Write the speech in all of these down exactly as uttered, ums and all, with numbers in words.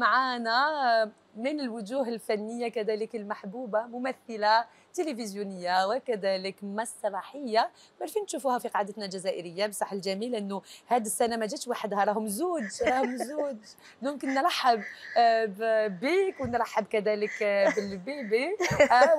معانا من الوجوه الفنية كذلك المحبوبة، ممثلة تلفزيونية وكذلك مسرحية، عارفين تشوفوها في قاعدتنا الجزائرية. بصح الجميل انه هذه السنة ما جاتش وحدها، راهم زوج راهم زوج دونك نرحب بك ونرحب كذلك بالبيبي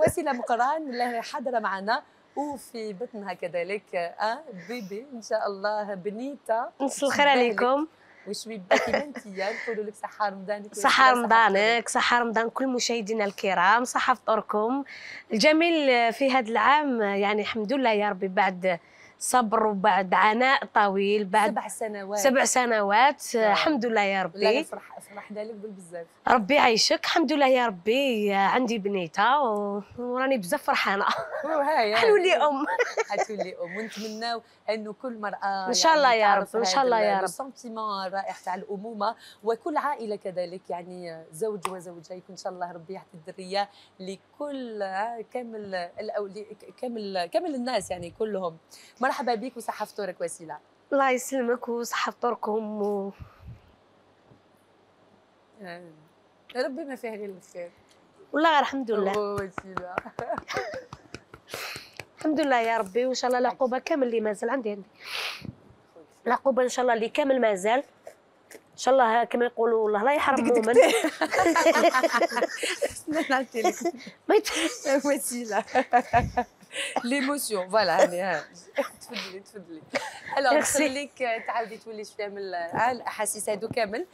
وسيلة مقران اللي حاضرة معنا وفي بطنها كذلك اه بيبي ان شاء الله بنيته. مساء الخير عليكم. وشوي باكي بنتيا نقولوا لك صحة رمضانك. صحة رمضانك، صحة رمضان كل مشاهدينا الكرام، صحة فطوركم. الجميل في هذا العام يعني الحمد لله يا ربي بعد صبر وبعد عناء طويل، بعد سبع سنوات سبع سنوات الحمد لله يا ربي. لا نفرح فرحنا لك بزاف. ربي يعيشك. الحمد لله يا ربي عندي بنيته وراني بزاف فرحانه. حنولي ام حتولي ام ونتمناو انه كل مراه ان شاء الله يعني يا رب ان شاء الله يا رب السنتيمون الرائع تاع الامومه، وكل عائله كذلك يعني زوج وزوجه يكون ان شاء الله ربي يعطي الذريه لكل كامل الأولي كامل كامل الناس يعني كلهم. مرحبا بك وصحه فطورك وسيله. الله يسلمك وصحه فطوركم و... آه. ربي ما فيه غير الخير والله الحمد لله. وسيله الحمد لله يا ربي وان شاء الله العقوبه كامل اللي مازال عندي عندي العقوبه ان شاء الله اللي كامل مازال ان شاء الله كما يقولوا الله لا يحرم مؤمن. نعطي لك وسيله ليموسيون فوالا هاني تفضلي تفضلي. الوغ نخليك تعاودي تولي شويه من الاحاسيس هادو كامل